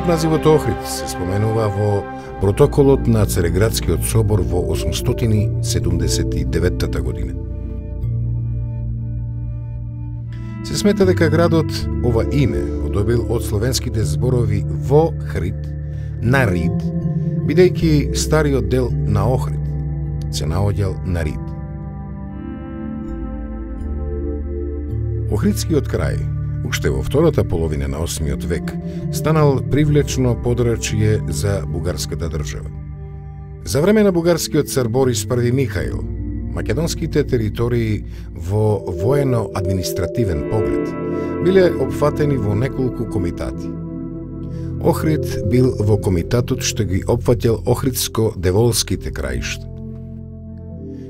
пат називот Охрид се споменува во протоколот на Цареградскиот собор во 879 година. Се смета дека градот ова име го добил од словенските зборови во Хрид, на Рид, бидејќи стариот дел на Охрид се наоѓал на Рид. Охридскиот крај, уште во втората половина на 8 век, станал привлечно подрачје за бугарската држава. За време на бугарскиот цар Борис I Михаил, македонските територии во воено-административен поглед биле опфатени во неколку комитати. Охрид бил во комитатот што ги опфатил Охридско-деволските краишта.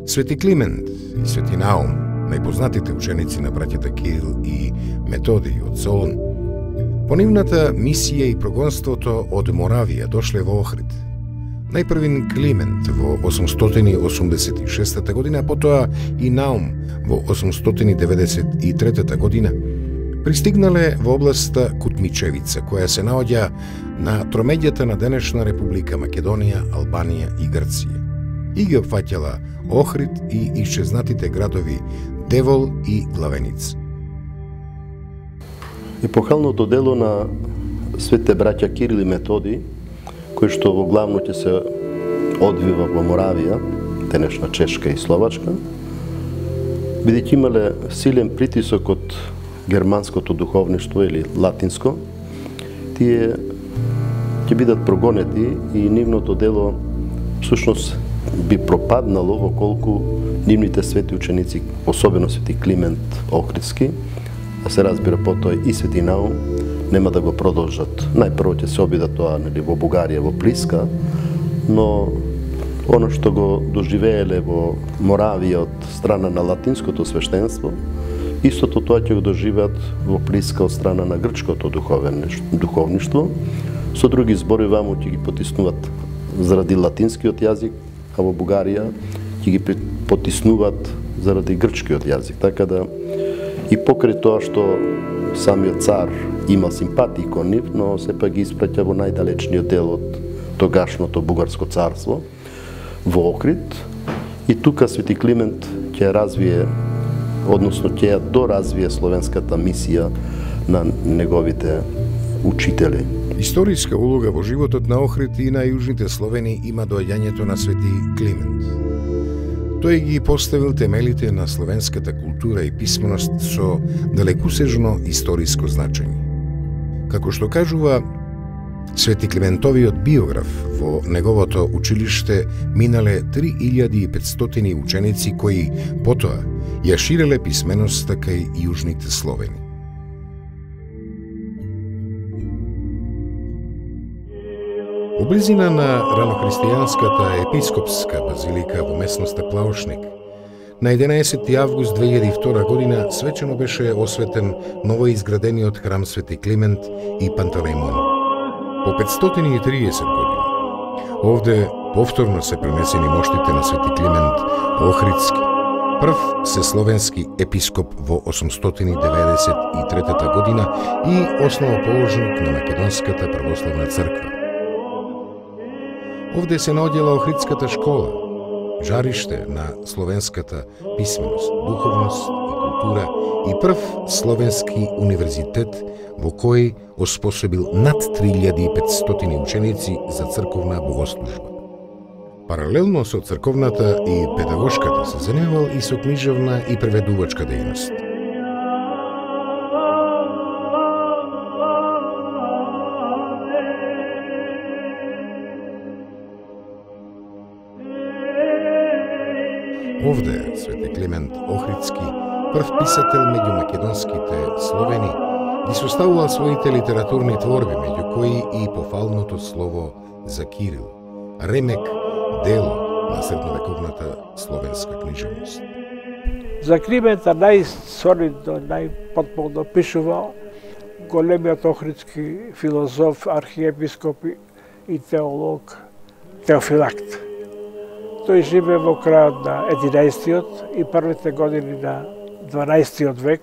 Свети Климент и Свети Наум, најпознатите ученици на браќата Кирил и Методиј од Солун, по нивната мисија и прогонството од Моравија дошле во Охрид. Најпрвин Климент во 886 година, а потоа и Наум во 893 година, пристигнале во областа Кутмичевица, која се наоѓа на тромеѓата на денешна Република Македонија, Албанија и Грција, и ги опфаќала Охрид и исчезнатите градови Девол и Главеница. Епохалното дело на светите браќа Кирил и Методиј, кој што во главно ќе се одвива во Моравија, денешна Чешка и Словачка, бидејќи имале силен притисок од германското духовништво или латинско, тие ќе бидат прогонети и нивното дело всушност би пропаднало во колку нивните свети ученици, особено Свети Климент Охридски, а се разбира потоа и Свети Наум, нема да го продолжат. Најпрво ќе се обидат тоа во Бугарија, во Плиска, но оно што го доживееле во Моравија од страна на латинското свештенство, истото тоа ќе го доживеат во Плиска од страна на грчкото духовништво. Со други зборови, ваму ќе ги потиснуваат заради латинскиот јазик, а во Бугарија ќе ги потиснуваат заради грчкиот јазик. Така да и покрај тоа што самиот цар има симпатии кон нив, но сепак ги испраќа во најдалечниот дел од тогашното бугарско царство, во Охрид. И тука Свети Климент ќе развие, односно ќе доразвие словенската мисија на неговите учители. Историска улога во животот на Охрид и на јужните Словени има доаѓањето на Свети Климент. Тој ги поставил темелите на словенската култура и писменост со далекусежно историско значење. Како што кажува Свети Климентовиот биограф, во неговото училиште минале 3500 ученици кои потоа ја ширеле писменоста кај јужните Словени. Во близина на ранохристијанската епископска базилика во местноста Плаошник, на 11 август 2002 година свечено беше осветен новоизградениот храм Свети Климент и Пантелеймон. По 530 години, овде повторно се пренесени моштите на Свети Климент Охридски, прв сесловенски епископ во 893 година и основоположник на Македонската православна црква. Овде се наоѓала Охридската школа, жариште на словенската писменост, духовност и култура и прв словенски универзитет во кој оспособил над 3500 ученици за црковна богослужба. Паралелно со црковната и педагошката се занимавал и со книжевна и преведувачка дејност. Овде Свети Климент Охридски, прв писател меѓу македонските Словени, ги составувал своите литературни творби, меѓу кои и пофалното слово за Кирил, ремек дело на средновековната словенска книжевност. За Климента најсолидно, најпотполно пишувал големиот охридски филозоф, архиепископ и теолог Теофилакт. Тој живе во крајот на 11-тиот и првите години на 12-тиот век.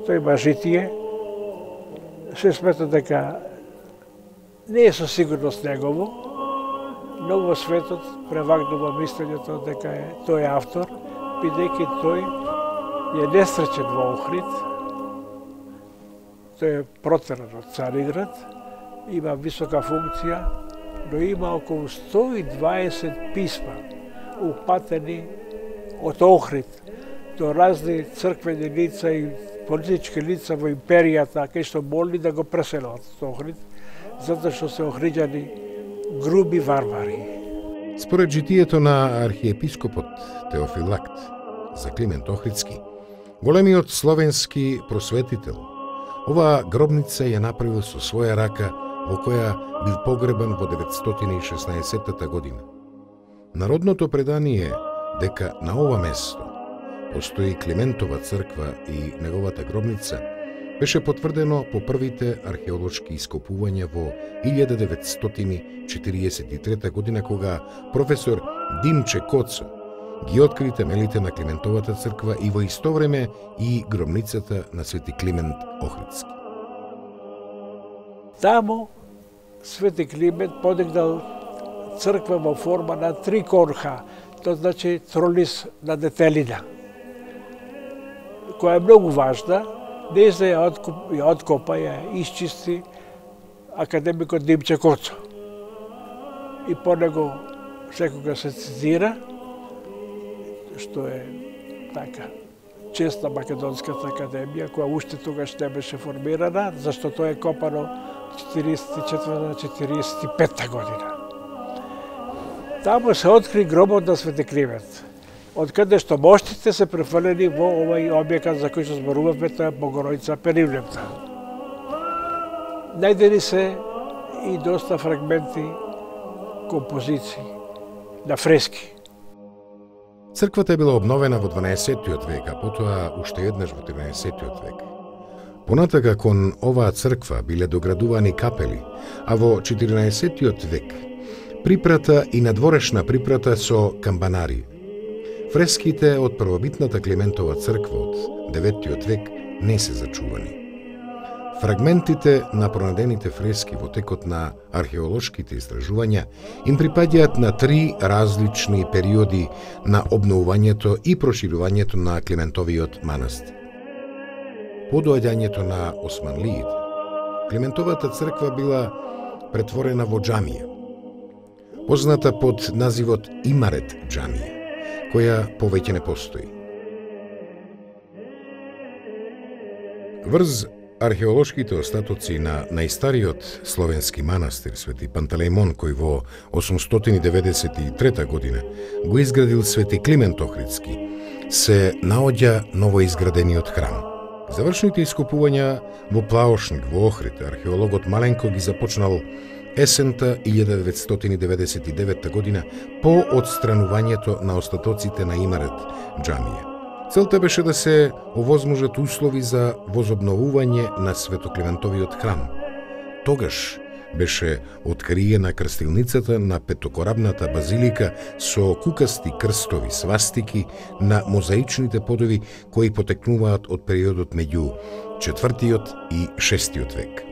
Тој има житие. Се смета дека не е со сигурност негово, но во светот превагнува мислењето дека тој е автор, бидејќи тој е несреќен во Охрид, тој е протеран од Цариград, има висока функција, но има околу 120 писма упатени од Охрид до разни црквени лица и политички лица во империјата, кај што молни да го преселат од Охрид, затоа што се охриѓани груби варвари. Според житието на архиепископот Теофилакт за Климент Охридски, големиот словенски просветител, оваа гробница ја направил со своја рака, во која бил погребан во 916 година. Народното предание дека на ова место постои Климентова црква и неговата гробница беше потврдено по првите археолошки ископувања во 1943 година, кога професор Димче Коцо ги откри темелите на Климентовата црква и во исто време и гробницата на Свети Климент Охридски. Тамо Свети Климент подигнал црква во форма на три корха, тоа значи тролис на детелина, која е многу важна. Деза ја откопа, ја исчисти академикот Димче Коцо. И по него секога се цитира, што е така чест на Македонската академија, која уште тогаш не беше формирана, зашто тоа е копано 44-45 година. Таму се откри гробот на Свети Климент, од каде што моштите се префрлени во овој објекат за кој што зборувавме, тоа е Богородица Пенивлемта. Најдени се и доста фрагменти, композиции на фрески. Црквата е била обновена во 12-тиот век, а потоа уште еднаш во 13-тиот век. Понатака кон оваа црква биле доградувани капели, а во 14-тиот век припрата и надворешна припрата со камбанари. Фреските од првобитната Климентова црква од 9-тиот век не се зачувани. Фрагментите на пронадените фрески во текот на археолошките истражувања им припаѓаат на три различни периоди на обновувањето и проширувањето на Климентовиот манастир. По доаѓањето на османлиите, Климентовата црква била претворена во џамија, позната под називот Имарет џамија, која повеќе не постои. Врз археолошките остатоци на најстариот словенски манастир Свети Пантелеймон, кој во 893 година го изградил Свети Климент Охридски, се наоѓа новоизградениот храм. Завршните ископувања во Плаошник во Охрид, археологот Маленко ги започнал есента 1999 година по отстранувањето на остатоците на Имарет џамија. Целта беше да се овозможат услови за возобновување на Светоклиментовиот храм. Тогаш беше откриена крстилницата на петокорабната базилика со кукасти крстови, свастики на мозаичните подови кои потекнуваат од периодот меѓу 4-тиот и 6-тиот век.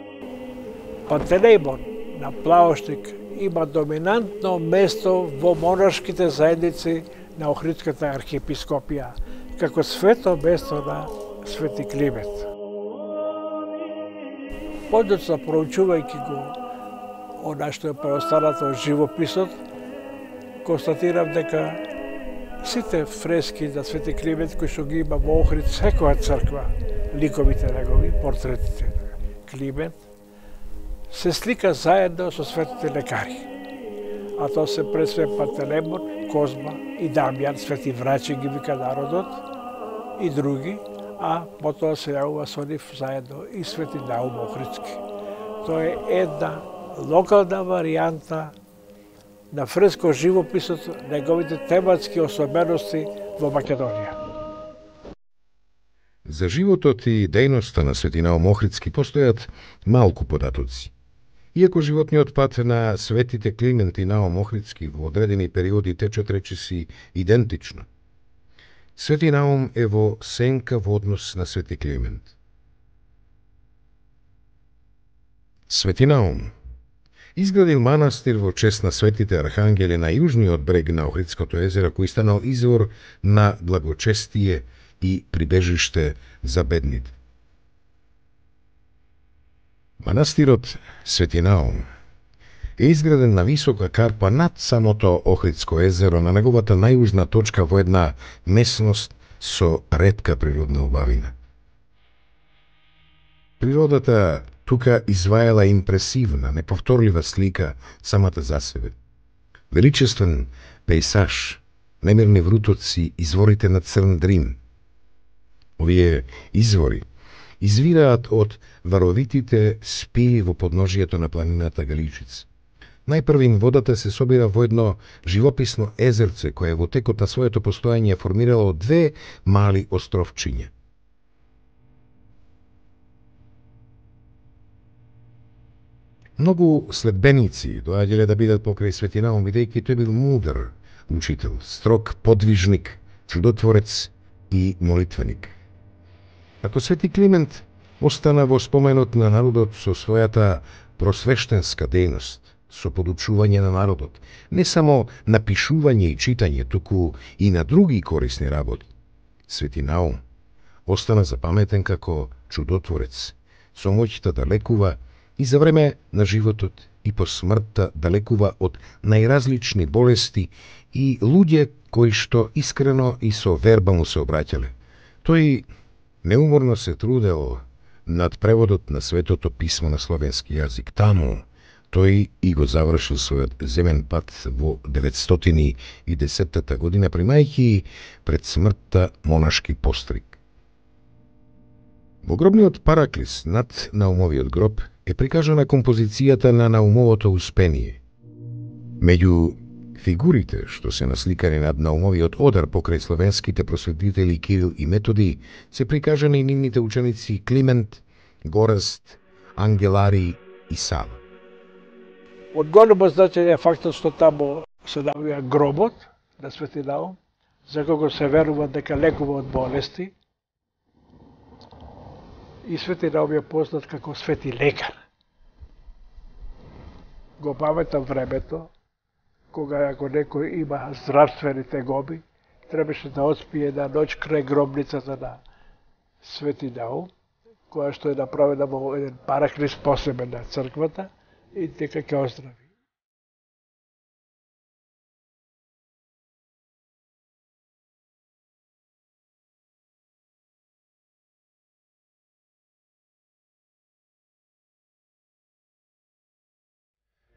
Пантелеймон на Плаошник има доминантно место во монашките заедници на Охридската архиепископија, како свето место на Свети Климент. Подоцна проучувајќи го она што е преостанато од живописот, констатирав дека сите фрески на Свети Климент кои што ги има во Охрид, секоја црква, ликовите негови, портретите на Климент, се слика заедно со светите лекари. А тоа се пред све Пантелеймон, Козма и Дамјан, свети врачи ги вика народот, и други, а потоа се јавува со нив заедно и Свети Наум Охридски. Тоа е една локална варијанта на фреско живописот, неговите тематски особености во Македонија. За животот и дејноста на Свети Наум Охридски постојат малку податоци. Иако животниот пат на светите Климент и Наум Охридски во одредени периоди течат речиси идентично, Свети Наум е во сенка во однос на Свети Климент. Свети Наум Изградил манастир во чест на светите архангели на јужниот брег на Охридското езеро, кој станал извор на благочестие и прибежиште за бедните. Манастирот Свети Наум е изграден на висока карпа над самото Охридско езеро, на неговата најюжна точка во една местност со ретка природна убавина. Природата тука изваела импресивна, неповторлива слика самата за себе. Величествен пейсаж, немирни врутоци, изворите на Црн Дрин. Овие извори извираат од варовитите спии во подножието на планината Галичица. Најпрвин водата се собира во едно живописно езерце, кое во текот на своето постојање формирало две мали островчиња. Многу следбеници доаѓале да бидат покрај Свети Наум, бидејќи тој бил мудар учител, строг подвижник, чудотворец и молитвеник. Ако Свети Климент остана во споменот на народот со својата просвештенска дејност, со подучување на народот, не само напишување и читање, туку и на други корисни работи, Свети Наум остана запаметен како чудотворец, со моќта да лекува и за време на животот и по смртта да лекува од најразлични болести и луѓе кои што искрено и со верба му се обраќале. Тој неуморно се трудел над преводот на Светото писмо на словенски јазик. Таму тој и го завршил својот земен пат во 910 година, примајќи пред смртта монашки постриг. Во гробниот Параклис над Наумовиот гроб е прикажана композицијата на Наумовото успение. Меѓу фигурите што се насликани над Наумовиот одар покрај словенските просветители Кирил и Методи се прикажани и нивните ученици Климент, Горест, Ангелари и Сава. Од големо значење е фактот што таму се навија гробот на Свети Наум, за кого се верува дека лекува од болести. И Свети Наум е познат како свети лекар. Го паметам времето, кога ако некој има здравствени тегоби, требаше да отспие една ноќ крај гробницата на Свети Наум, која што е направена во еден параклис посебен на црквата, и дека ќе оздрави.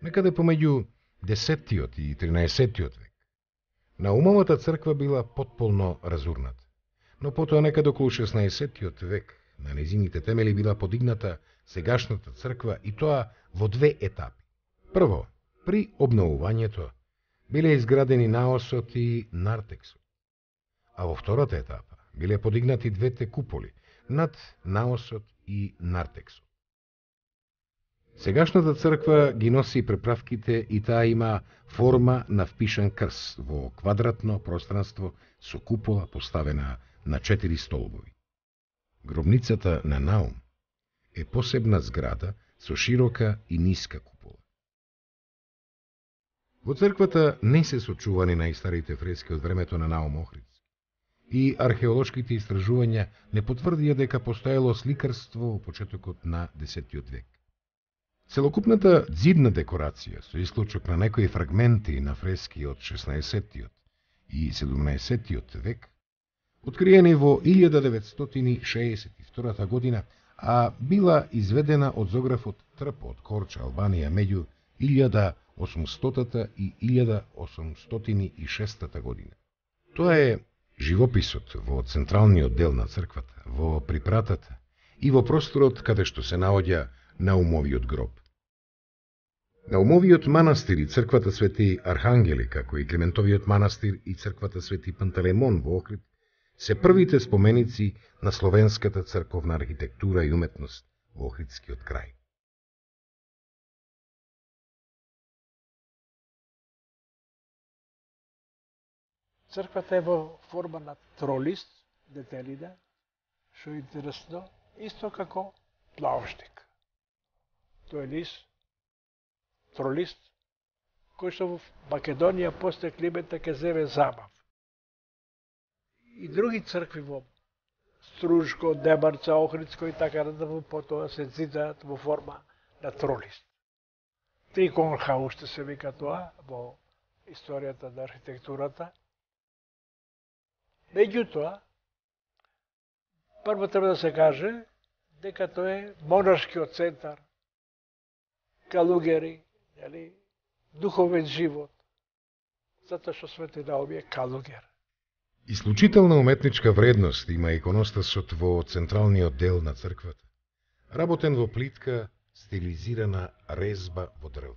Некаде помеѓу 10-тиот и 13-тиот век, Наумовата црква била потполно разурната, но потоа некаде околу 16-тиот век на незините темели била подигната сегашната црква, и тоа во две етапи. Прво, при обновувањето биле изградени наосот и нартексот, а во втората етапа биле подигнати двете куполи над наосот и нартексот. Сегашната црква ги носи преправките и таа има форма на впишан крст во квадратно пространство со купола поставена на 4 столбови. Гробницата на Наум е посебна зграда со широка и ниска купола. Во црквата не се сочувани најстарите фрески од времето на Наум Охридски и археолошките истражувања не потврдија дека постоело сликарство во почетокот на 10-тиот век. Целокупната ѕидна декорација, со исклучок на некои фрагменти на фрески од 16-тиот и 17-тиот век, откриени во 1962 година, а била изведена од зографот Трп од Корча, Албанија, меѓу 1800 и 1806 година. Тоа е живописот во централниот дел на црквата, во припратата и во просторот каде што се наоѓа Наумовиот гроб. Наумовиот манастир и црквата Свети Архангели, како и Климентовиот манастир и црквата Свети Пантелеймон во Охрид, се првите споменици на словенската црковна архитектура и уметност во Охридскиот крај. Црквата е во форма на тролист, детелина, што е интересно, исто како плавштик. Тој лист тролист, кој што во Македонија после климата ќе земе замав. И други цркви во Стружко, Демарца, Охридско и така натаму потоа се зидаат во форма на тролист. Триконха уште се вика тоа во историјата на архитектурата. Меѓутоа, прво треба да се каже дека тоа е монашкиот центар, калугери, духовен живот, затоа што Свети Наум е калугер. Исклучителна уметничка вредност има иконостасот во централниот дел на црквата, работен во плитка, стилизирана резба во дрво.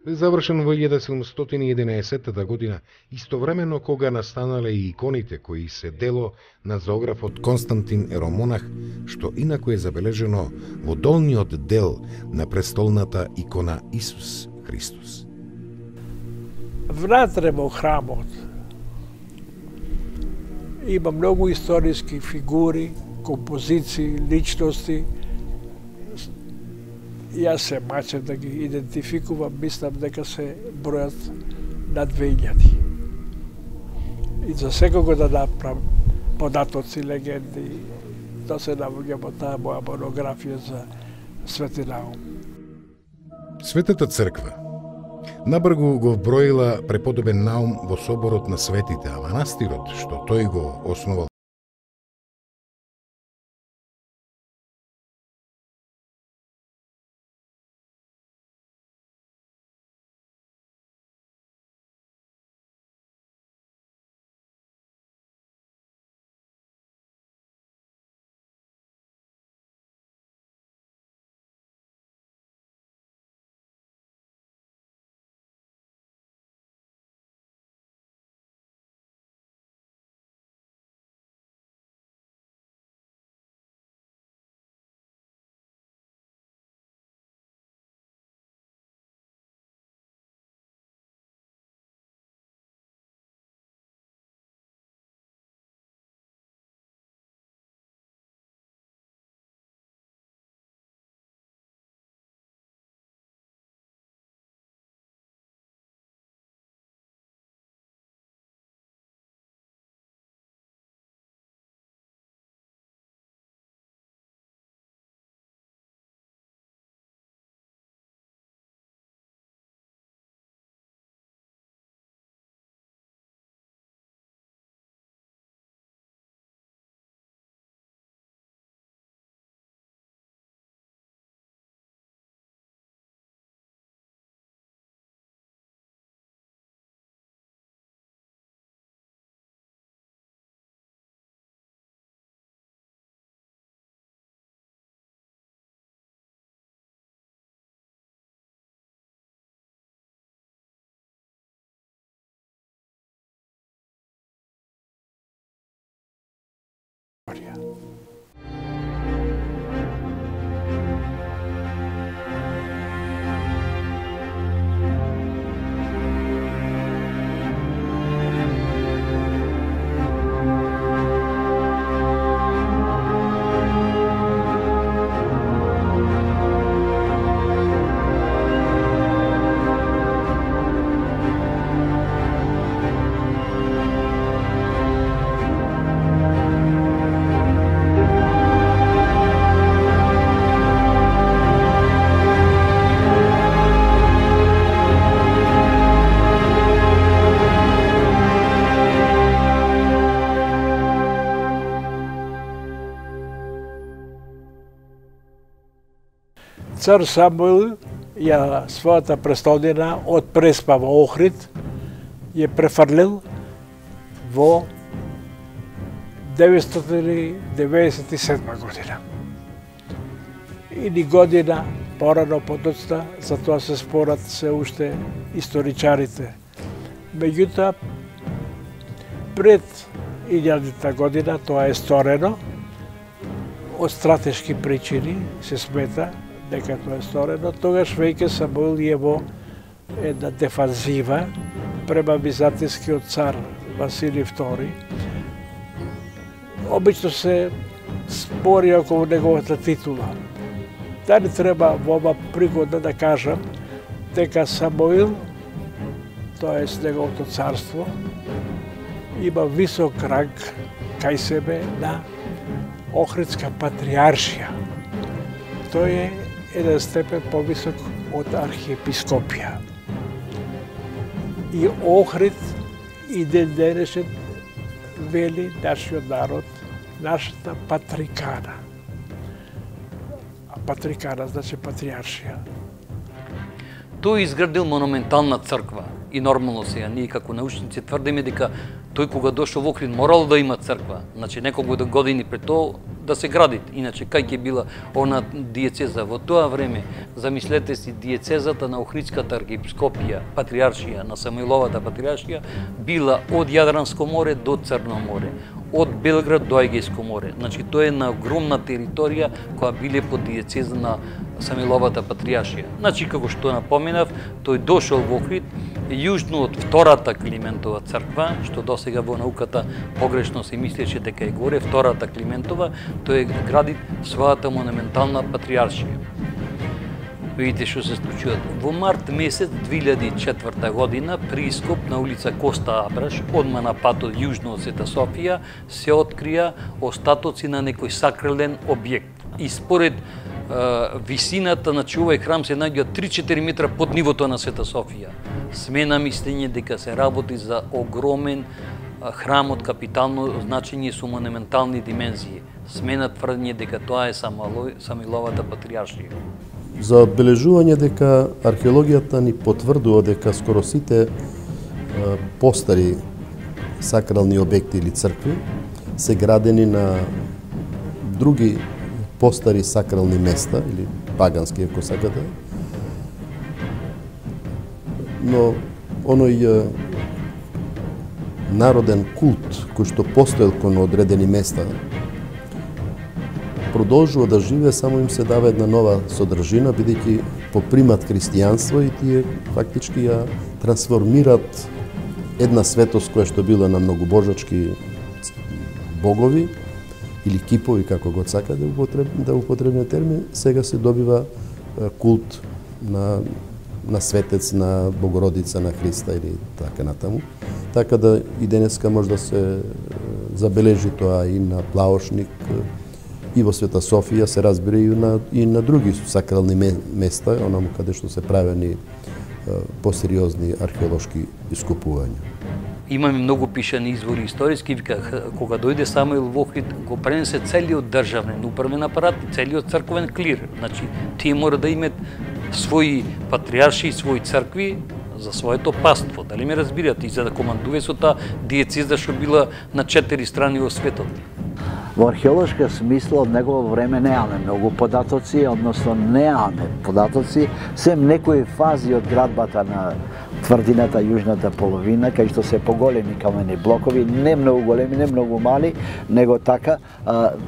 Бе завршен во 1711 година, истовремено кога настанале и иконите кои се дело на зоографот Константин Еромонах, што инаку е забележено во долниот дел на престолната икона Исус Христос. Внатре во храмот има многу историски фигури, композиции, личности. Јас се мачам да ги идентификувам, мислам дека се бројат на 2000. И за секого да направам податоци, легенди, да се навуѓа во таа моја монографија за Свети Наум. Светата црква набргу го вброила преподобен Наум во соборот на светите, а манастирот, што тој го основал, Цар Самуил ја својата престолнина од Преспа во Охрид ја префрлил во 997 година. И ни година порано подоцна, за тоа се спорат се уште историчарите. Меѓутоа, пред 1000 година тоа е сторено, од стратешки причини се смета дека тоа е сторено, тогаш веќе Самуил е во една дефанзива према византискиот цар Василий II. Обично се спори околу неговата титула. Дали треба во ова пригода да кажам дека Самуил, тоест неговото царство, има висок ранг кај себе на Охридска патриаршија. Тој е еден степен повисок од архиепископија. И Охрид и ден денешен вели нашиот народ, нашата патрикана. А патрикана значи патриаршија. Тој изградил монументална црква и нормално сега ние како научници тврдиме дека тој кога дошол во Охрид морал да има црква, значи неколку години пред тоа да се гради. Иначе кај ќе била она диецеза во тоа време, замислете си диецезата на Охридската архиепископија, патриаршија на Самуиловата патриаршија била од Јадранско море до Црно море, од Белград до Егејско море. Значи тоа е на огромна територија која биле под диецеза на Самуиловата патриаршија. Значи како што напоменав, тој дошол во Охрид јужно од втората Климентова црква, што досега во науката погрешно се мислеше дека е горе, втората Климентова, тој гради својата монументална патриаршија. Видите што се случува. Во март месец 2004 година при ископ на улица Коста Абраш, одма на патот јужно од Света Софија, се открија остатоци на некој сакрален објект. И според висината на овој храм се наоѓа 3-4 метра под нивото на Света Софија. Смена мислење дека се работи за огромен храм од капитално значење со монументални димензии. Смена тврдење дека тоа е Самуиловата патриаршија. За одбележување дека археологијата ни потврдува дека скоро сите постари сакрални објекти или цркви се градени на други постари сакрални места или пагански, ако сакате. Но оној народен култ кој што постоел кон одредени места продолжува да живее, само им се дава една нова содржина, бидејќи попримат христијанство и тие фактички ја трансформират една светост која што била на многобожачки богови или кипови, како го сака да употребне термин, сега се добива култ на светец, на Богородица, на Христа или така натаму. Така да и денеска може да се забележи тоа и на Плаошник, и во Света Софија, се разбира и на други сакрални места, онаму каде што се правени посериозни археолошки искупувања. Имаме многу пишани извори историски, вика, кога дојде Самуил во Охрид, го пренесе целиот државен управен апарат и целиот црковен клир. Значи, тие мора да имат своји патриарши и своји цркви за своето паство. Дали ме разбирате? И за да командува со таа диецеза што била на 4 страни во светот. Во археолошка смисла од негово време неаме многу податоци, односно неаме податоци, сем некои фази од градбата на тврдината јужната половина, кај што се поголеми камени блокови, не многу големи, не многу мали, него така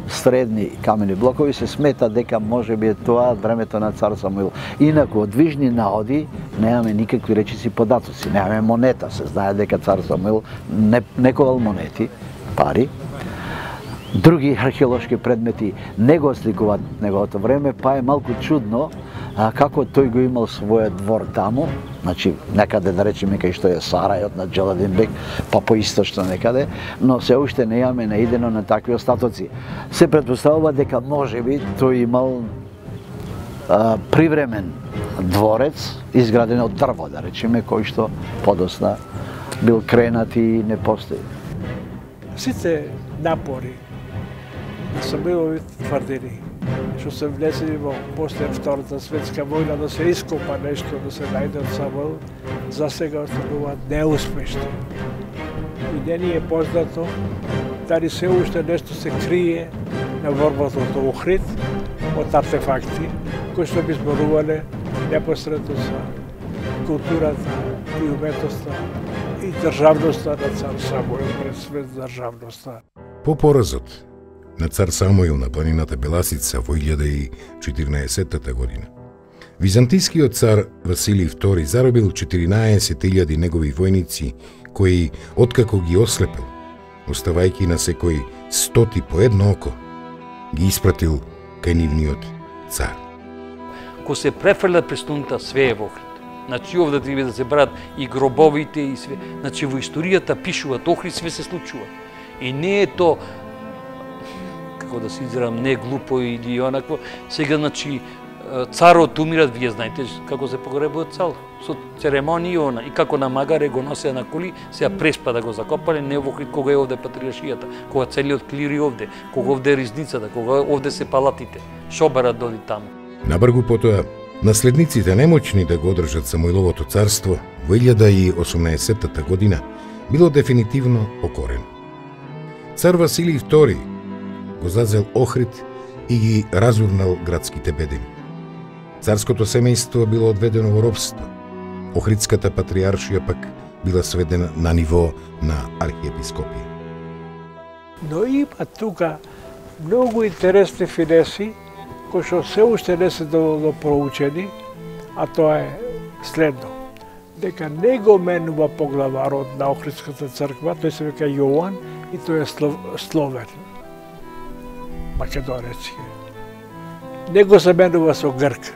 средни камени блокови, се смета дека може би е тоа од времето на цар Самуил. Инаку од движни наоди неаме никакви речиси податоци, неаме монета, се знае дека цар Самуил не ковал монети, пари. Други археолошки предмети не го сликуваат неговото време, па е малку чудно како тој го имал својот двор таму, значи некаде да речеме кај што е Сарајот на Джаладин бек, па поисточно некаде, но се уште не имаме наидено на такви остатоци. Се претпоставува дека можеби тој имал привремен дворец изграден од дрво, да речеме, кој што подосна бил кренат и не постои. Сите напори на Самуилови тврдини, што се влезени во после Втората светска војна да се ископа нешто, да се најде од Самуил, за сега остануваат неуспешни. И не ни е познато дали се уште нешто се крие на ворбата од Охрид од артефакти кои што би зборувале непосредно за културата и уметноста и државноста на цар Самуил, пред свет државноста. По поразот на цар Самуил на планината Беласица во 1014 година, византискиот цар Василий II заробил 14.000 негови војници, кои, откако ги ослепил, оставајќи на секој 100 по едно око, ги испратил кај нивниот цар. Ко се префрля престолната све е во Охрид. Значи овде треба да се брат и гробовите и све. Значи во историјата пишуваат Охрид све се случува. И не е то како да се изразам, не глупо или онакво. Сега значи царот умират, вие знаете како се погребува цар, со церемонии она и како на магаре го носеа на коли, сега преспа да го закопале, не во Охрид кога е овде патриаршијата, кога целиот клири овде, кога овде е ризницата, кога овде се палатите, шобарат доди таму. Набргу потоа, наследниците немоćни да го одржат Самуиловото царство во 1018 година било дефинитивно покорено. Цар Василий II го зазел Охрид и ги разурнал градските бедини. Царското семејство било одведено во робство. Охридската патриаршија пак била сведена на ниво на архиепископија. Но има тука многу интересни финеси кои што се уште не се доволно проучени, а тоа е следно. Дека не го менува поглаварот на Охридската црква, тој се вика Јован и тој е словен, македонец. Не го се менува со грк.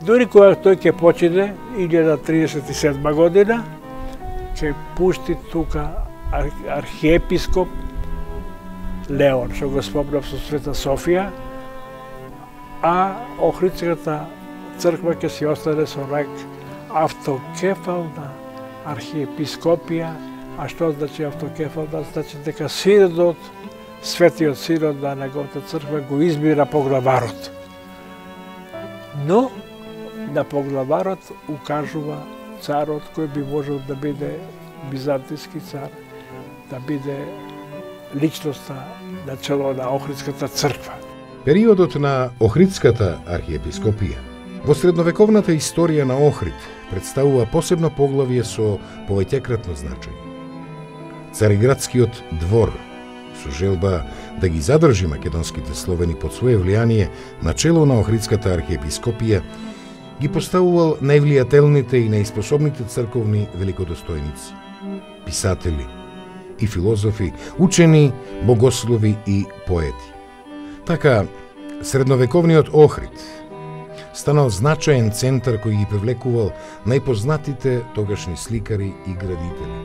Дури кога тој ќе почине, 1037 година, ќе пушти тука архиепископ Леон, што го спомнав со Света Софија, а Охридската црква ќе си остане со ранг автокефална архиепископија. А што значи автокефална? Значи дека синодот, светиот синод на неговата црква го избира поглаварот. Но на поглаварот укажува царот кој би можел да биде византиски цар, да биде личноста на чело на Охридската црква. Периодот на Охридската архиепископија во средновековната историја на Охрид представува посебно поглавје со повеќекратно значење. Цариградскиот двор, со желба да ги задржи македонските словени под свое влијание на чело на Охридската архиепископија, ги поставувал највлијателните и најспособните црковни великодостојници, писатели и филозофи, учени, богослови и поети. Така, средновековниот Охрид станал значаен центар кој ги привлекувал најпознатите тогашни сликари и градители.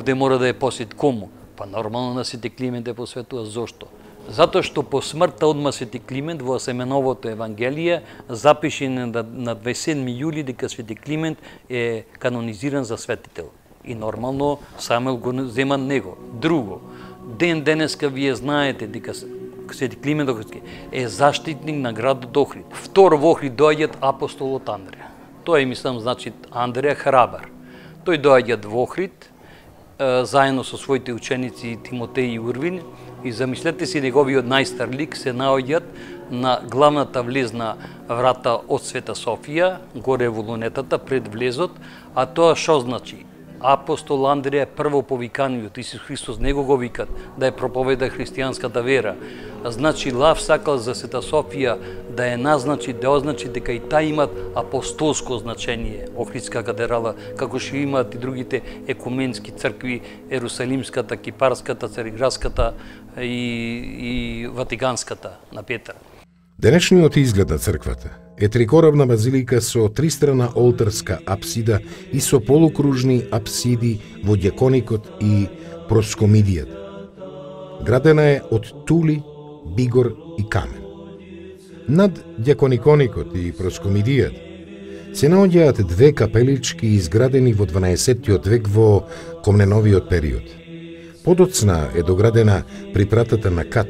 Де мора да ја посвети кому? Па нормално на Свети Климент ја посветува. Зошто? Затоа што по смртта одма Свети Климент во Семеновото Евангелие запише на 27 јули дека Свети Климент е канонизиран за светител. И нормално Самуил го зема него. Друго, денеска вие знаете дека Свети Климент Охридски е заштитник на градот Охрид. Второ во Охрид доаѓаат апостолот Андреја. Тој мислам значи Андреја Храбар. Тој доаѓа во Охрид заедно со своите ученици Тимотеј и Урвин и замислете си неговиот најстар лик се наоѓаат на главната влезна врата од Света Софија, горе во лунетата пред влезот, а тоа што значи? Апостол Андреја прво повиканиот, Исус Христос него го викат да ја проповеда христијанската вера. Значи Лав сакал за Света Софија да ја назначи, да означи дека и таа имат апостолско значење, Охридска катедрала, како што имаат и другите екуменски цркви, Ерусалимската, Кипарската, Цариградската и Ватиканската на Петар. Денешниот изглед на црквата е трикоравна базилика со тристрана олтарска апсида и со полукружни апсиди во дјаконикот и проскомидијата. Градена е од тули, бигор и камен. Над дјакониконикот и проскомидијата се наоѓаат две капелички изградени во 12 век во Комненовиот период. Подоцна е доградена при пратата на Кат,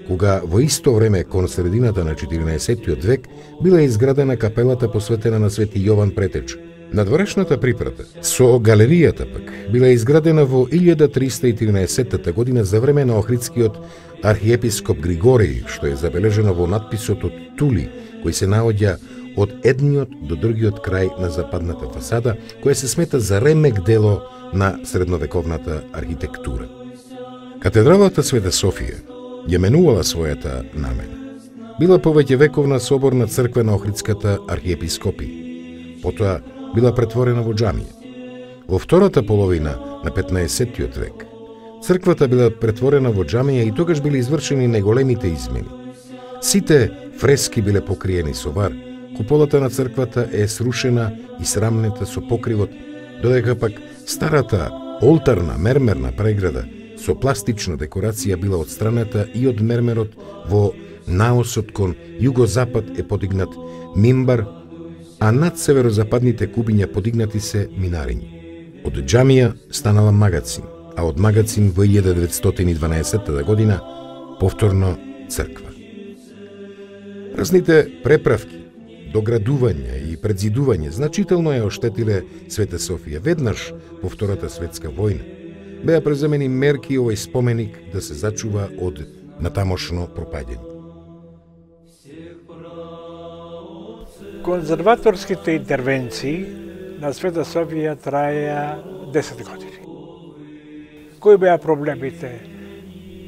кога во исто време кон средината на 14 век била изградена капелата посветена на Свети Јован Претеч. Надворешната припрата со галеријата пак била изградена во 1313 година за време на Охридскиот архиепископ Григорий, што е забележено во надписот од Тули, кој се наоѓа од едниот до другиот крај на западната фасада, која се смета за ремек дело на средновековната архитектура. Катедралата Света Софија ја менувала својата намена. Била повеќе вековна соборна црква на Охридската архиепископија. Потоа била претворена во џамија. Во втората половина на 15 век, црквата била претворена во џамија и тогаш били извршени најголемите измени. Сите фрески биле покриени со вар, куполата на црквата е срушена и срамнета со покривот, додека пак старата олтарна мермерна преграда со пластична декорација била отстраната и од мермерот во наосот кон југозапад е подигнат мимбар, а над северозападните кубиња подигнати се минариња. Од џамија станала магацин, а од магацин во 1912 година повторно црква. Разните преправки, доградување и предзидување значително ја оштетиле Света Софија. Веднаш по Втората светска војна беа преземени мерки овој споменик да се зачува од натамошно пропаѓање. Конзерваторските интервенции на Света Софија траја 10 години. Кои беа проблемите?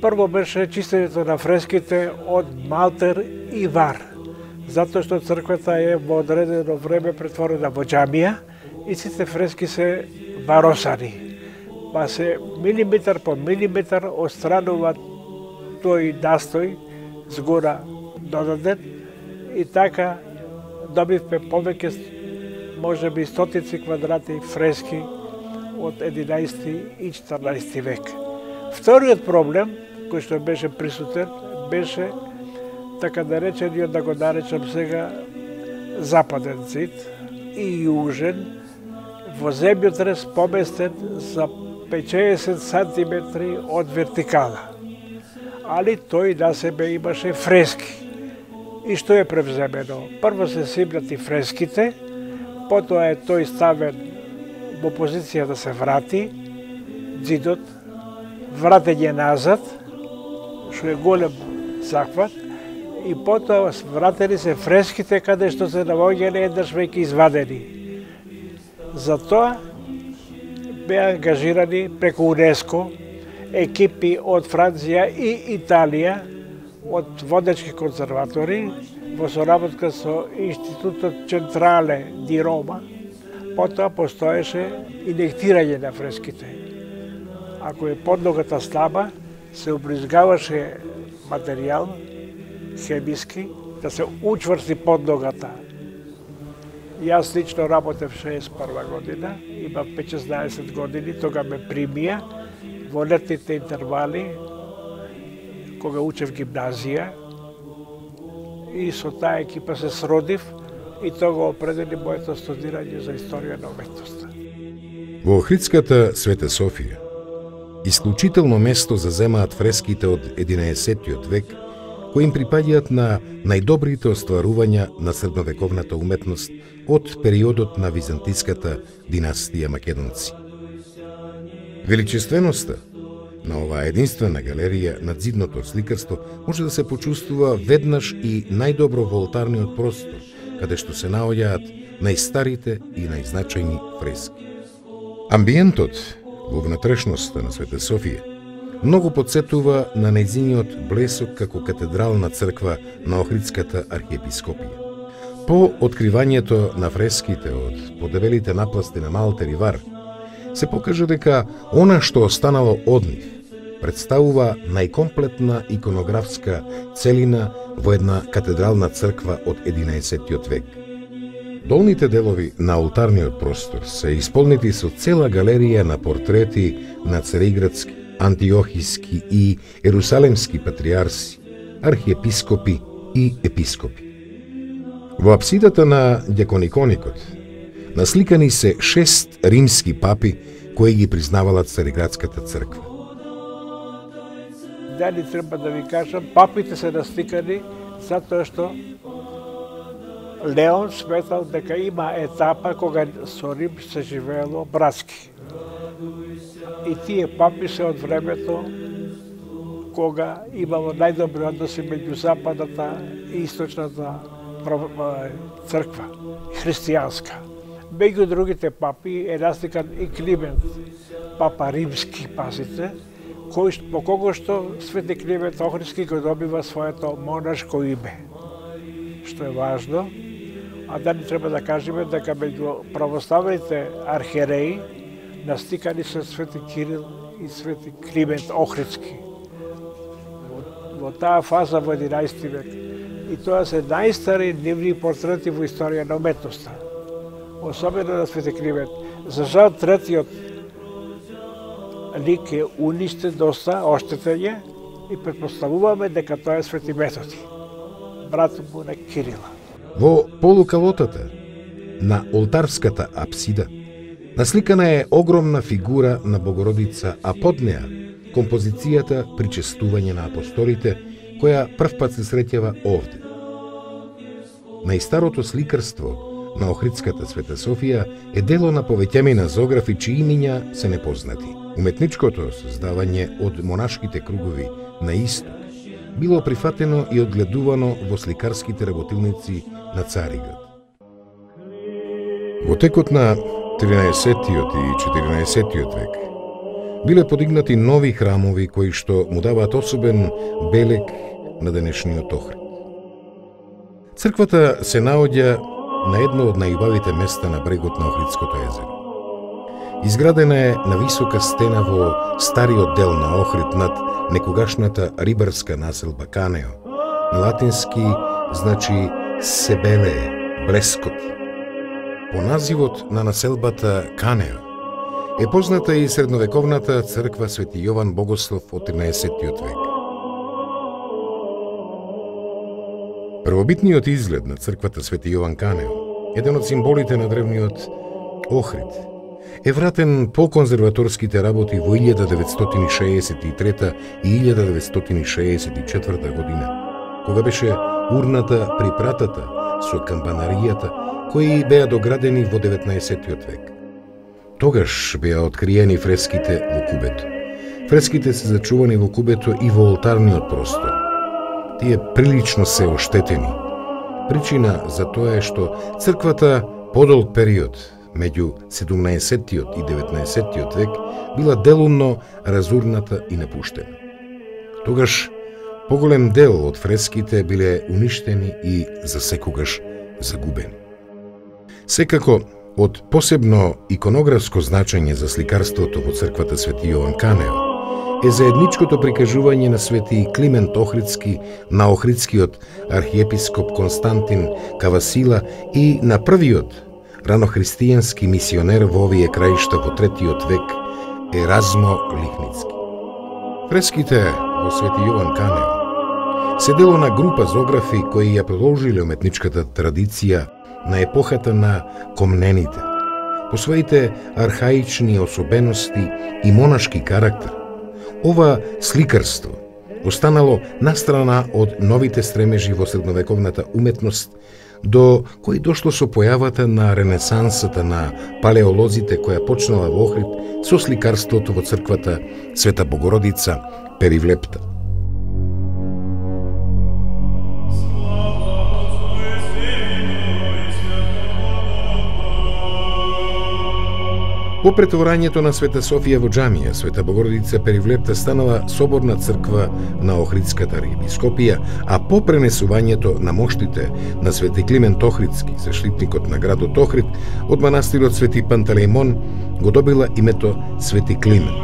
Прво беше чистењето на фреските од малтер и вар, затоа што црквата е во одредено време претворена во џамија и сите фрески се варосани. Па се милиметар по милиметар отстранува тој настој згора додаден и така добивме повеќе, може би стотици квадрати фрески од 11 и 14 век. Вториот проблем, кој што беше присутен, беше така наречениот, да го наречам сега, западен зид и јужен, во земјотрес поместен за 50 сантиметри од вертикала. Али тој на себе имаше фрески. И што е превземено? Прво се симнати фреските, потоа е тој ставен во позиција да се врати, зидот, вратење назад, што е голем захват, и потоа вратени се фреските каде што се наоѓале еднаш веќе извадени. Затоа беа ангажирани преку УНЕСКО екипи од Франција и Италија, од водечки конзерватори, во соработка со Институтот Централе ди Рома. Потоа постоеше инектирање на фреските. Ако е подногата слаба, се убризгаваше материјал хемиски да се учврсти подногата. Јас лично работев 61 година, имам 15 години, тога ме примија во летните интервали, кога учев гимназија, и со таа екипа се сродив и тога определи моето студирање за историја на уметноста. Во Охридската Света Софија исклучително место заземаат фреските од 11 век, кои им припаѓаат на најдобрите остварувања на средновековната уметност од периодот на византиската династија македонци. Величественоста на оваа единствена галерија на зидното сликарство може да се почувствува веднаш и најдобро во олтарниот простор, каде што се наоѓаат најстарите и најзначајни фрески. Амбиентот во внатрешноста на Света Софија многу подсетува на нејзиниот блесок како катедрална црква на Охридската архиепископија. По откривањето на фреските од подебелите напласти на Малтер и Вар, се покажа дека она што останало од нив представува најкомплетна иконографска целина во една катедрална црква од 11 век. Долните делови на олтарниот простор се исполнети со цела галерија на портрети на цариградски, антиохиски и ерусалемски патриарси, архиепископи и епископи. Во апсидата на дјакониконикот насликани се 6 римски папи кои ги признавалат Цариградската црква. Дали треба да ви кажам, папите се насликани затоа што Леон сметал дека има етапа кога со Рим се живеело братски. И тие папи се од времето кога имало најдобри односи меѓу западната и источната црква, христијанска. Меѓу другите папи е насликан и Климент, папа римски, пазите, по кого што Свети Климент Охридски го добива своето монашко име, што е важно. А дали треба да кажеме дека меѓу православните архиереи насликани се Свети Кирил и Свети Климент Охридски. Во таа фаза во 11 век. И тоа се најстари нивни портрети во историја на уметноста. Особено на Свети Климент. За жал, третиот лик е уништен доста, оштетен и претпоставуваме дека тоа е Свети Методи, брат му на Кирила. Во полукалотата на олтарската апсида насликана е огромна фигура на Богородица, а под неа композицијата Причестување на апостолите, која првпат се среќава овде. Најстарото сликарство на Охридската Света Софија е дело на повеќемина зографи чии имиња се непознати. Уметничкото создавање од монашките кругови на исток било прифатено и одгледувано во сликарските работилници на Цариград. Во текот на 13-тиот и 14-тиот век биле подигнати нови храмови кои што му даваат особен белег на денешниот Охрид. Црквата се наоѓа на едно од најубавите места на брегот на Охридското езеро. Изградена е на висока стена во стариот дел на Охрид над некогашната рибарска населба Канео. На латински значи Себелее, блескот. По називот на населбата Канео е позната и средновековната црква Свети Јован Богослов од 13-тиот век. Првобитниот изглед на црквата Свети Јован Канео, еден од символите на древниот Охрид, е вратен по конзерваторските работи во 1963 и 1964 година, кога беше урната при пратата со камбанаријата, кои беа доградени во 19-тиот век. Тогаш беа откриени фреските во кубето. Фреските се зачувани во кубето и во олтарниот простор. Тие прилично се оштетени. Причина за тоа е што црквата подолг период, меѓу 17-тиот и 19-тиот век, била делумно разурната и напуштена. Тогаш поголем дел од фреските биле уништени и засекогаш загубени. Секако, од посебно иконографско значење за сликарството во црквата Свети Јован Канео е заедничкото прикажување на Свети Климент Охридски, на Охридскиот архиепископ Константин Кавасила и на првиот ранохристијански мисионер во овие краишта во 3 век Еразмо Лихницки. Фреските во Свети Јован Канео се дело на група зографи кои ја продолжиле уметничката традиција на епохата на комнените, по своите архаични особености и монашки карактер. Ова сликарство останало настрана од новите стремежи во средновековната уметност, до кои дошло со појавата на ренесансата на палеолозите која почнала во Охрид со сликарството во црквата Света Богородица Перивлепта. По претворањето на Света Софија во џамија, Света Богородица Перивлепта станала соборна црква на Охридската архиепископија, а по пренесувањето на моштите на Свети Климент Охридски, заштитникот на градот Охрид, од манастирот Свети Пантелеимон го добила името Свети Климент.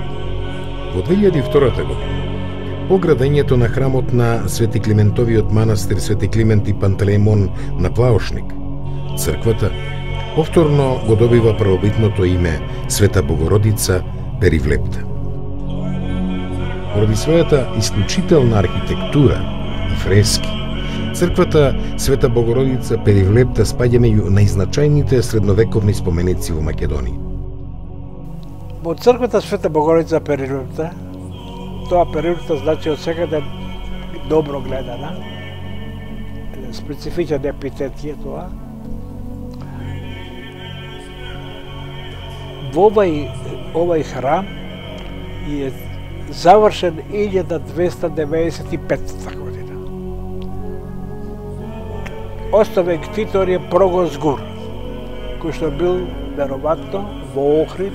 Во 2002 година, по градењето на храмот на Свети Климентовиот манастир Свети Климент и Пантелеимон на Плаошник, црквата повторно го добива првобитното име Света Богородица Перивлепта. Поради својата исклучителна архитектура и фрески, црквата Света Богородица Перивлепта спаѓа меѓу најзначајните средновековни споменици во Македонија. Во црквата Света Богородица Перивлепта, тоа Перивлепта значи од секаде добро гледана, специфичен епитет е тоа. Во овај храм е завршен 1295 година. Оставен ктитор е Прогос Гур, кој што бил веројатно во Охрид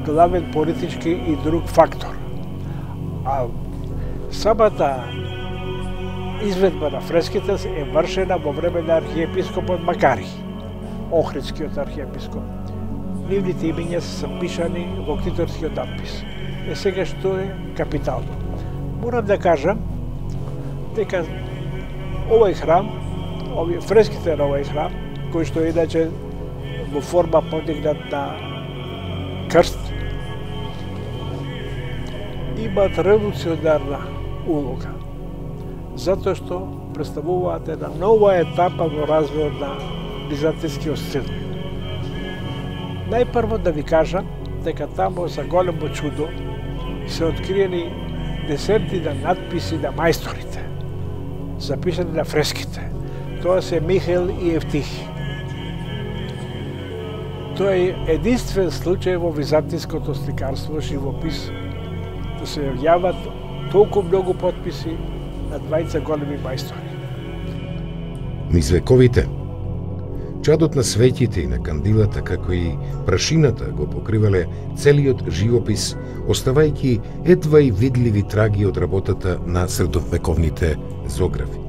главен политички и друг фактор. А самата изведба на фреските е вршена во време на архиепископот Макари, Охридскиот архиепископ. Нивните имиња се запишани во ктиторскиот надпис. Сега што е капитално. Морам да кажам дека овој храм, фреските на овој храм, кој што е иначе во форма подигнат на крст, имаат револуционарна улога, затоа што представуваат една нова етапа во развојот на византискиот стил. Најпрво да ви кажам дека таму за големо чудо се откриени десетки на надписи на мајсторите, запишани на фреските. Тоа се Михаил и Евтихи. Тоа е единствен случај во византиското сликарство, живопис, да се јават толку многу подписи на двајца големи мајстори. Низ вековите, чадот на светите и на кандилата, како и прашината го покривале целиот живопис, оставајќи едва и видливи траги од работата на средовековните зографи.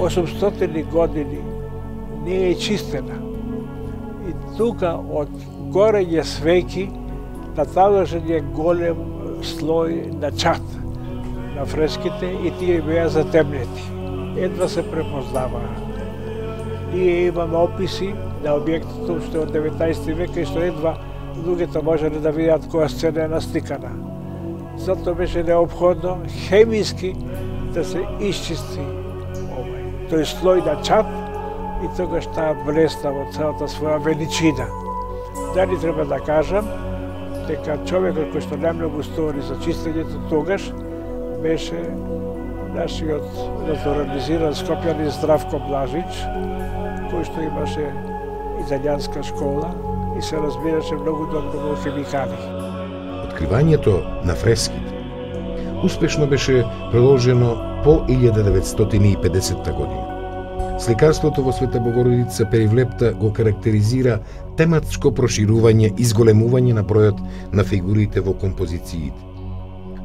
Осумстотини години не е чистена. И тука од горење свеки наталожен е голем слој на чат на фреските и тие беа затемнети. Едва се препознаваа. Ние имаме описи на објектот што од 19 век и што едва луѓето можеле да видат која сцена е насликана. Затоа беше неопходно хемиски да се исчисти тој слој на чат и тогаш таа блесна во целата своја величина. Дали треба да кажам дека човекот кој што најмногу стори за чистењето тогаш беше нашиот натурализиран скопјанин Здравко Блажич, кој што имаше италијанска школа и се разбираше многу добро во хемикали. Откривањето на фреските успешно беше продолжено по 1950 година. Сликарството во Света Богородица Перивлепта го карактеризира тематско проширување и зголемување на бројот на фигурите во композициите.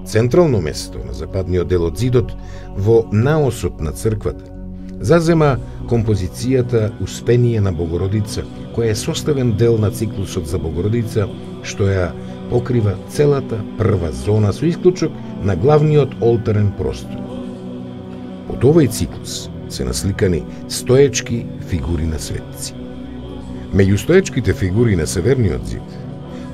Централно место на западниот дел од зидот, во наосот на црквата, зазема композицијата Успение на Богородица, која е составен дел на циклусот за Богородица, што ја покрива целата прва зона со исклучок на главниот олтарен простор. Под овој циклус се насликани стоечки фигури на светци. Меѓу стоечките фигури на северниот зид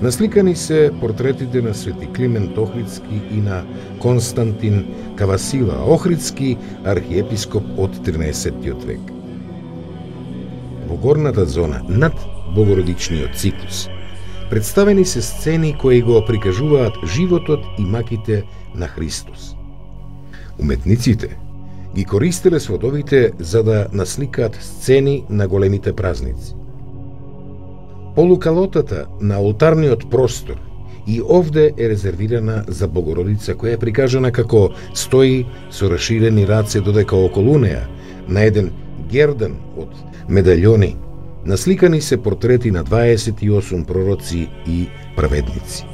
насликани се портретите на Свети Климент Охридски и на Константин Кавасила Охридски, архиепископ од 13 век. Во горната зона, над Богородичниот циклус, представени се сцени кои го прикажуваат животот и маките на Христос. Уметниците ги користеле сводовите за да насликаат сцени на големите празници. Полукалотата на олтарниот простор и овде е резервирана за Богородица, која е прикажана како стои со расширени раце, додека околу неа, на еден гердан од медаљони, насликани се портрети на 28 пророци и праведници.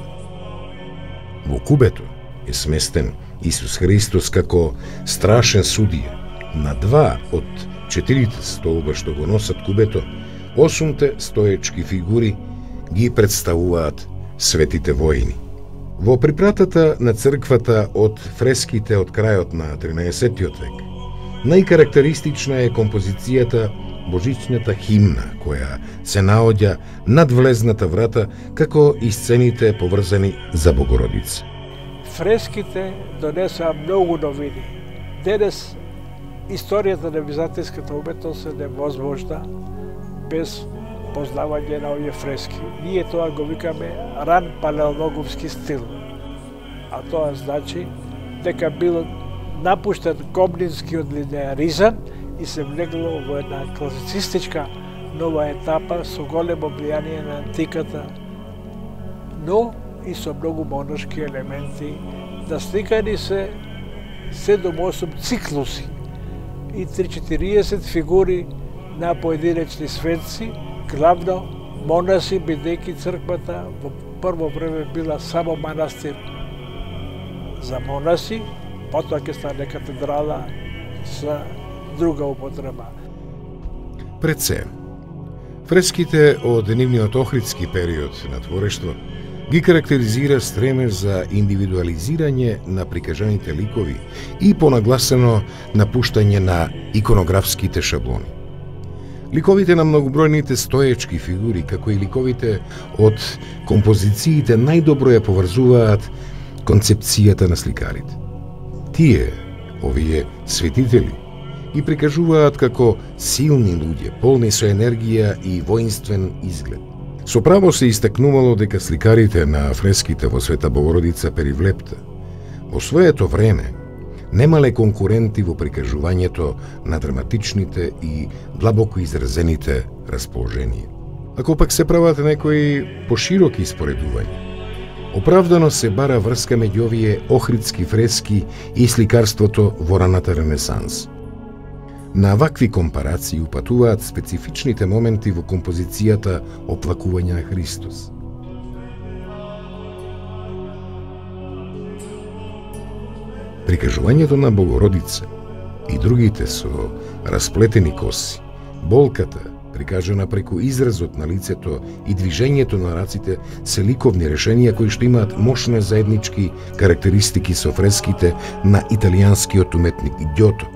Во кубето е сместен Исус Христос како страшен судија. На 2 од 4 столба што го носат кубето, 8 стоечки фигури ги представуваат светите воини. Во припратата на црквата од фреските од крајот на 13 век, најкарактеристична е композицијата Божичната химна, која се наоѓа над влезната врата, како и сцените поврзани за Богородица. Фреските донесаа многу новини. Денес историјата на византиската уметност е невозможна без познавање на овие фрески. Ние тоа го викаме ран палеологовски стил. А тоа значи дека бил напуштен комнинскиот линеаризам и се влегло во една класицистичка нова етапа со големо влијание на антиката, но и со многу монашки елементи. Насликани се 7-8 циклуси и 3-40 фигури на поединечни светци, главно монаси, бидејќи црквата во прво време била само манастир за монаси, потоа ќе стане катедрала за друга употреба. Пред се, фреските од нивниот охридски период на творештво ги карактеризира стремеж за индивидуализирање на прикажаните ликови и понагласено напуштање на иконографските шаблони. Ликовите на многобројните стоечки фигури, како и ликовите од композициите, најдобро ја поврзуваат концепцијата на сликарите. Тие, овие светители, ги прикажуваат како силни луѓе, полни со енергија и воинствен изглед. Со право се истакнувало дека сликарите на фреските во Света Богородица Перивлепта во своето време немале конкуренти во прикажувањето на драматичните и длабоко изразените расположенија. Ако пак се прават некои пошироки споредувања, оправдано се бара врска меѓу овие охридски фрески и сликарството во раната Ренесанс. На вакви компарации упатуваат специфичните моменти во композицијата Оплакување на Христос. Прикажувањето на Богородица и другите со расплетени коси, болката, прикажана преку изразот на лицето и движењето на раците, се ликовни решенија кои што имаат мощни заеднички карактеристики со фреските на италијанскиот уметник Ѓото,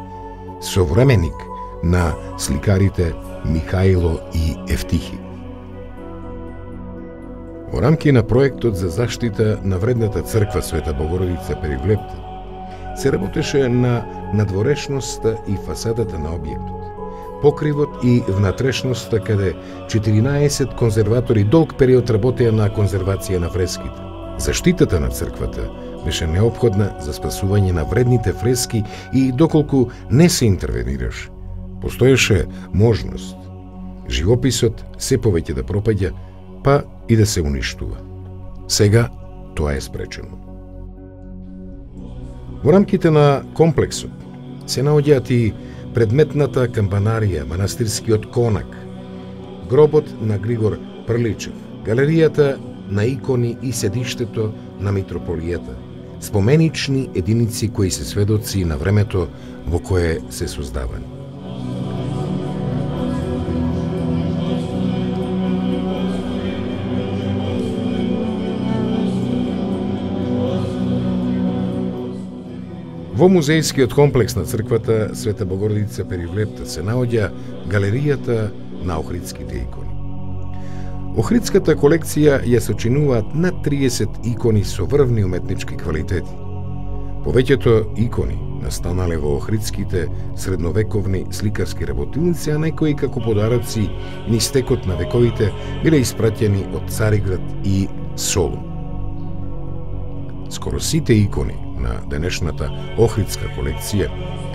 современик на сликарите Михаило и Ефтихи. Во рамки на проектот за заштита на вредната црква Света Богородица Перивлепта се работеше на надворешноста и фасадата на објектот, покривот и внатрешноста, каде 14 конзерватори долг период работеа на конзервација на фреските. Заштитата на црквата беше неопходна за спасување на вредните фрески и доколку не се интервенираше, постоеше можност живописот се повеќе да пропаѓа, па и да се уништува. Сега тоа е спречено. Во рамките на комплексот се наоѓаат и предметната кампанарија, манастирскиот конак, гробот на Григор Прличев, галеријата на икони и седиштето на митрополијата, споменични единици кои се сведоци на времето во кое се создавани. Во музејскиот комплекс на црквата Света Богородица Перивлепта се наоѓа галеријата на охридските икони. Охридската колекција ја сочинуваат над 30 икони со врвни уметнички квалитети. Повеќето икони настанале во охридските средновековни сликарски работилници, а некои како подароци низ текот на вековите биле испраќени од Цариград и Солун. Скоро сите икони на денешната охридска колекција,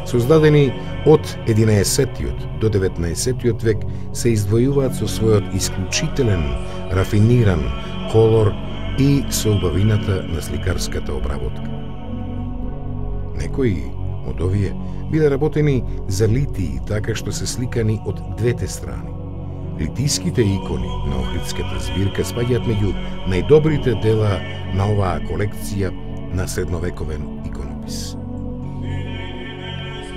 создадени од 11 до 19 век, се издвојуваат со својот исклучителен, рафиниран колор и со убавината на сликарската обработка. Некои од овие биле работени за литии, така што се сликани од двете страни. Литиските икони на охридската збирка спаѓаат меѓу најдобрите дела на оваа колекција на средновековен иконопис.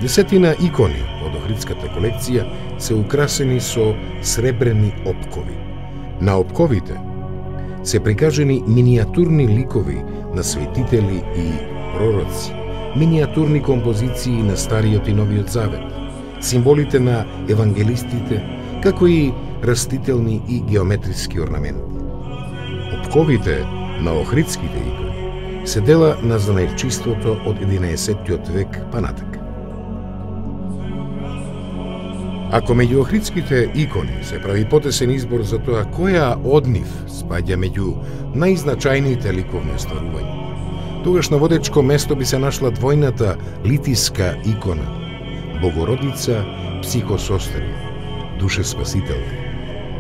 Десетина икони од охридската колекција се украсени со сребрени опкови. На опковите се прикажени миниатурни ликови на светители и пророци, миниатурни композиции на Стариот и Новиот Завет, символите на евангелистите, како и растителни и геометриски орнаменти. Опковите на охридските икони се дела на занајчиството од 11 век па натака. Ако меѓу охридските икони се прави потесен избор за тоа која од нив спаѓа меѓу најзначајните ликовни остварувања, тогаш на водечко место би се нашла двојната литиска икона Богородица Психосостерија, душе спасителка,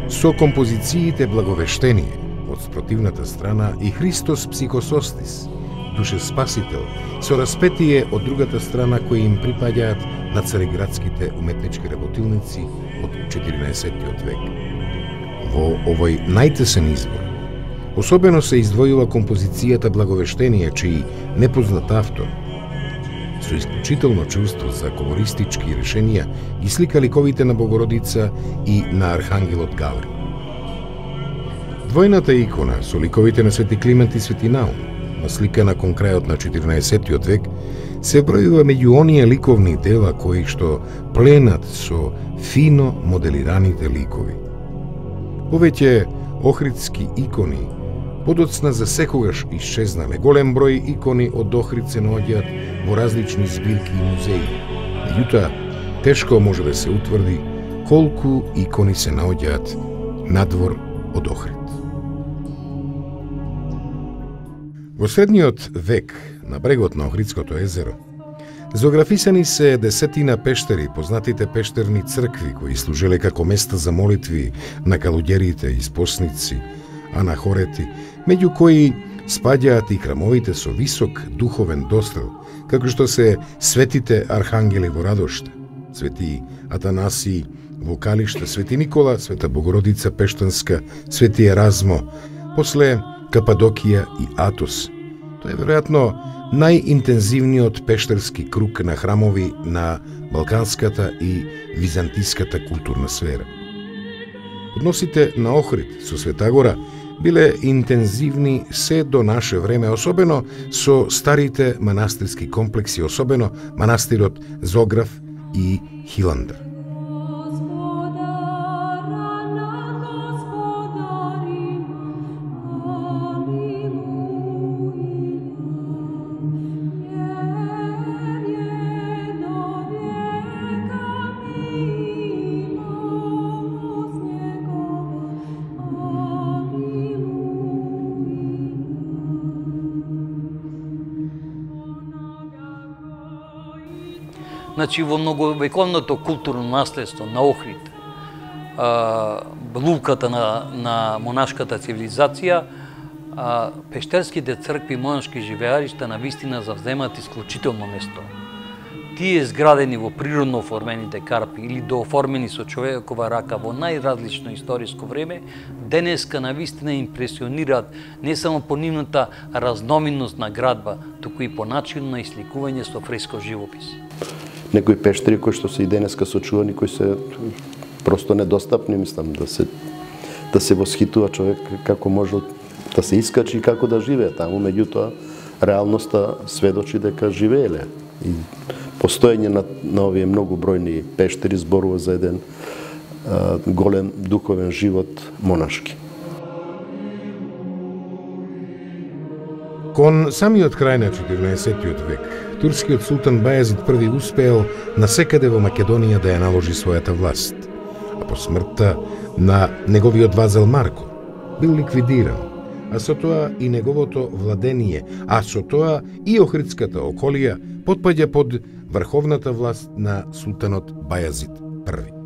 со композициите Благовештение од спротивната страна и Христос Психосостис, душе спасител, со распетие од другата страна кои им припаѓаат на цариградските уметнички работилници од 14 век. Во овој најтесен избор особено се издвојува композицијата Благовештение, чиј непознат автор со исклучително чувство за колористички решенија ги слика ликовите на Богородица и на Архангелот Гаврил. Двојната икона со ликовите на Свети Климент и Свети Наум, насликана кон крајот на 14 век, се бројува меѓу оние ликовни дела кои што пленат со фино моделираните ликови. Повеќе охридски икони подоцна за секогаш исчезнале. Голем број икони од Охрид се наоѓаат во различни збирки и музеи. Меѓутоа, тешко може да се утврди колку икони се наоѓаат надвор од Охрид. Во средниот век, на брегот на Охридското езеро, зоографисани се десетина пештери, познатите пештерни цркви, кои служеле како места за молитви на калуѓерите, испосници, анахорети, меѓу кои спаѓаат и храмовите со висок духовен дострел, како што се светите архангели во Радошта, Свети Атанасий во Калиште, Свети Никола, Света Богородица Пештанска, Свети Еразмо, после Кападокија и Атос. Тоа е веројатно најинтензивниот пештерски круг на храмови на балканската и византиската културна сфера. Односите на Охрид со Светагора биле интензивни се до наше време, особено со старите манастирски комплекси, особено манастирот Зограф и Хиландр. Значи, во многовековното културно наследство на Охрид, луката на монашката цивилизација, пештерските цркви и монашки живеаришта навистина завземаат исклучително место. Тие зградени во природно оформените карпи или дооформени со човекова рака во најразлично историско време, денеска навистина импресионираат не само по нивната разноминност на градба, туку и по начин на исликување со фресков живопис. Некои пештери кои што се и денеска сочувани, кои се просто недостапни, мислам, да се восхитува човек како може да се искачи и како да живее таму, меѓутоа реалноста сведочи дека живееле И постоење на овие многу бројни пештери зборува за еден голем духовен живот монашки. Кон самиот крај на 14. век, турскиот султан Бајазид I успеал насекаде во Македонија да ја наложи својата власт, а по смртта на неговиот вазал Марко бил ликвидиран, а со тоа и неговото владение, а со тоа и Охридската околија потпаѓа под врховната власт на султанот Бајазид I.